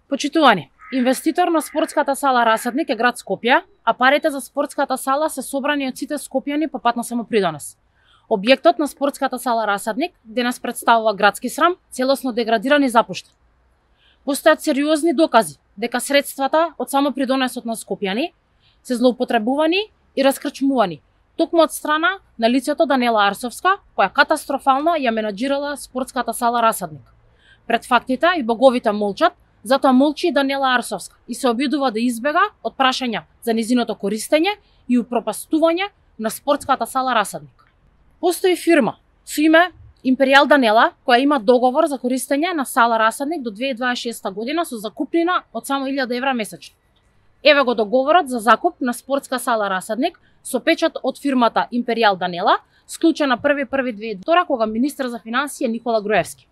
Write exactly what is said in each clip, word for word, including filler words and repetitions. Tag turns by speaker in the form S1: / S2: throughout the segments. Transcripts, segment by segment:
S1: Почитувани, инвеститор на спортската сала Расадник е град Скопје, а парите за спортската сала се собрани од сите скопјани по пат на самопридонес. Објектот на спортската сала Расадник денес представува градски срам, целосно деградиран и запуштен. Постојат сериозни докази дека средствата од самопридонесот на скопјани се злоупотребувани и раскрчмувани, токму од страна на лицето Данела Арсовска, која катастрофално ја менаџирала спортската сала Расадник. Пред фактите и боговите молчат, затоа молчи и Данела Арсовска и се обидува да избега од прашања за низиното користење и упропастување на спортската сала Расадник. Постои фирма со име Империјал Данела, која има договор за користење на сала Расадник до две илјади дваесет и шеста година со закупнина од само илјада евра месечно. Еве го договорот за закуп на спортска сала Расадник со печат од фирмата Империјал Данела, склучен на први први две илјади и втора кога министер за финансии е Никола Груевски.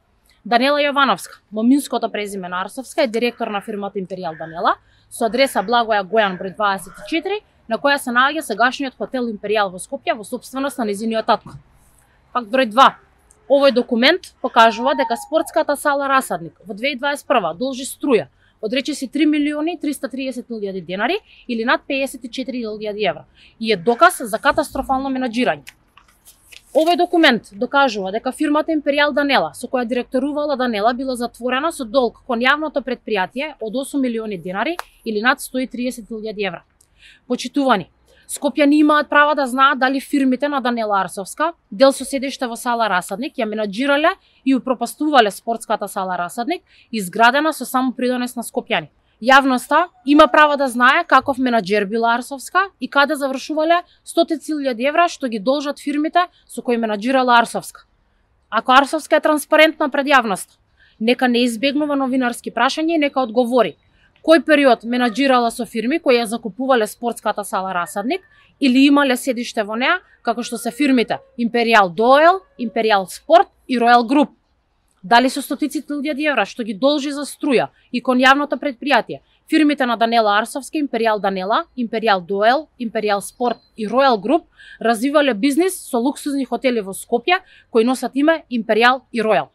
S1: Данела Јовановска, моминското презиме на Арсовска, е директор на фирмата Империјал Данела, со адреса Благоја Гојан број дваесет и четири, на која се наоѓа сегашниот хотел Империјал во Скопје во сопственост на незиниот татко. Факт број два. Овој документ покажува дека спортската сала Расадник во две илјади дваесет и прва должи струја од речиси три милиони триста триесет илјади денари или над пеесет и четири илјади евра и е доказ за катастрофално менаџирање. Овој документ докажува дека фирмата Империјал Данела, со која директорувала Данела, била затворена со долг кон јавното предпријатие од осум милиони денари или над сто и триесет илјади евра. Почитувани, скопјани имаат право да знаат дали фирмите на Данела Арсовска, дел со седиште во сала Расадник, ја менаџирале и упропастувале спортската сала Расадник, изградена со самопридонес на скопјани. Јавноста има право да знае каков менаџер била Арсовска и каде завршувале стотици илјади евра што ги должат фирмите со кои менаџирала Арсовска. Ако Арсовска е транспарентна пред јавноста, нека не избегнува новинарски прашања и нека одговори кој период менаџирала со фирми кои ја закупувале спортската сала Расадник или имале седиште во неа, како што се фирмите Империјал Доел, Империјал Спорт и Ројал Груп. Дали со стотици илјади евра што ги должи за струја и кон јавното предпријатие, фирмите на Данела Арсовска, Империјал Данела, Империјал Доел, Империјал Спорт и Ројал Груп развивале бизнис со луксузни хотели во Скопје кои носат име Империјал и Ројал.